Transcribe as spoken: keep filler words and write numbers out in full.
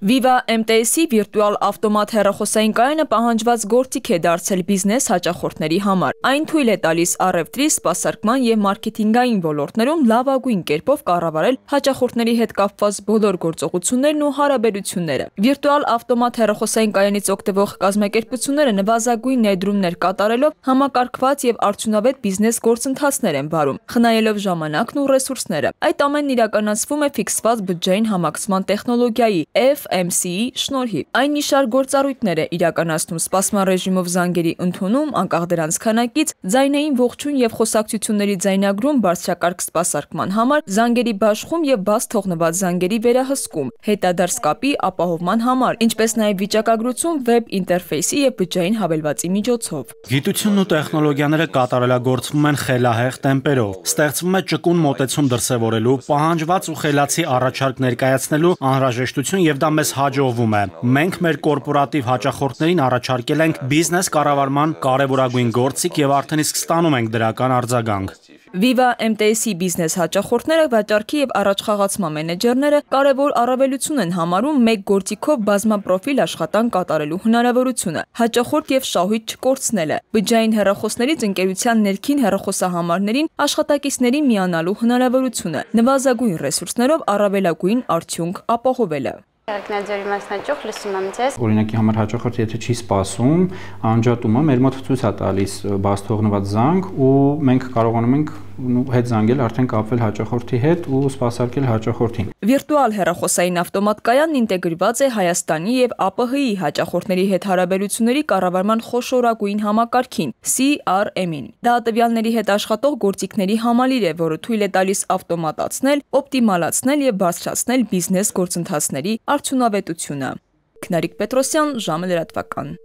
Viva M T S-ի վիրտուալ ավտոմատ հեռախոսային կայանը պահանջված գործիք է դարձել բիզնես հաճախորդների համար։ Այն թույլ է տալիս առևտրի, սպասարկման և մարքեթինգային ոլորտներում լավագույն կերպով կառավարել հաճախորդների հետ կապված բոլոր գործողություններն ու հարաբերությունները։ Վիրտուալ ավտոմատ հեռախոսային կայանից օգտվող կազմակերպությունները նվազագույն ներդրումներ կատարելով համակարգված և արդյունավետ բիզնես գործընթացներ են վարում, խնայելով ժամանակն ու ռեսուրսները։ Այդ ամենն իրականացվում է ֆիքսված բյուջեային համակցման տեխնոլոգիայի F M C-ի շնորհիվ։ Այն մի շարք գործառույթներ է իրականացնում սպասման ռեժիմով զանգերի ընդունում, անկախ դրանց քանակից, ձայնային ողջույն և խոսակցությունների ձայնագրում բարձրակարգ սպասարկման համար, զանգերի բաշխում և բաց թողնված զանգերի վերահսկում, հետադարձ կապի ապահովման համար, ինչպես նաև վիճակագրություն վեբ ինտերֆեյսի և բջջային հավելվածի միջոցով։ Գիտությունն ու տեխնոլոգիաները կատարելագործվում են խելահեղ տեմպերով, ստեղծվում է ճկուն մոտեցում դրսևորելու, պահանջված ու խելացի առաջարկ ներկայացնելու անհրաժեշտություն և դա մեզ հաջողվում է։ Մենք մեր կորպորատիվ հաճախորդներին առաջարկել ենք բիզնես կառավարման կարևորագույն գործիք և արդեն իսկ ստանում ենք դրական արձագանք։ Viva M T S-ի բիզնես հաճախորդները, վաճառքի և առաջխաղացման մենեջերները կարևոր առավելություն են համարում մեկ գործիքով բազմապրոֆիլ աշխատանք կատարելու հնարավորությունը, հաճախորդ և շահույթ չկորցնելը, բջջային հեռախոսներից ընկերության ներքին հեռախոսահամարներին աշխատակիցներին միանալու հնարավորությունը, նվազագույն ռեսուրսներով առավելագույն արդյունք ապահովելը։ Երկնաձորի մասնաճյուղ, լսում եմ ձեզ։ Օրինակի համար հաճախորդը եթե չի սպասում, անջատումը մեր մոտ ցույց է տալիս բաց թողնված զանգ ու մենք կարողանում ենք հետ զանգել, արդեն կապվել հաճախորդի հետ ու սպասարկել հաճախորդին։ Վիրտուալ հեռախոսային ավտոմատ կայանն ինտեգրված է Հայաստանի և A P H-ի հաճախորդների հետ հարաբերությունների կառավարման խոշորագույն համակարգին C R M-ին։ Դա տվյալների հետ աշխատող գործիքների համալիր է, որը թույլ է տալիս ավտոմատացնել, օպտիմալացնել և բարձրացնել բիզնես գործընթացների արդյունավետությունը։ Քնարիկ Պետրոսյան, ժամը լրատվական։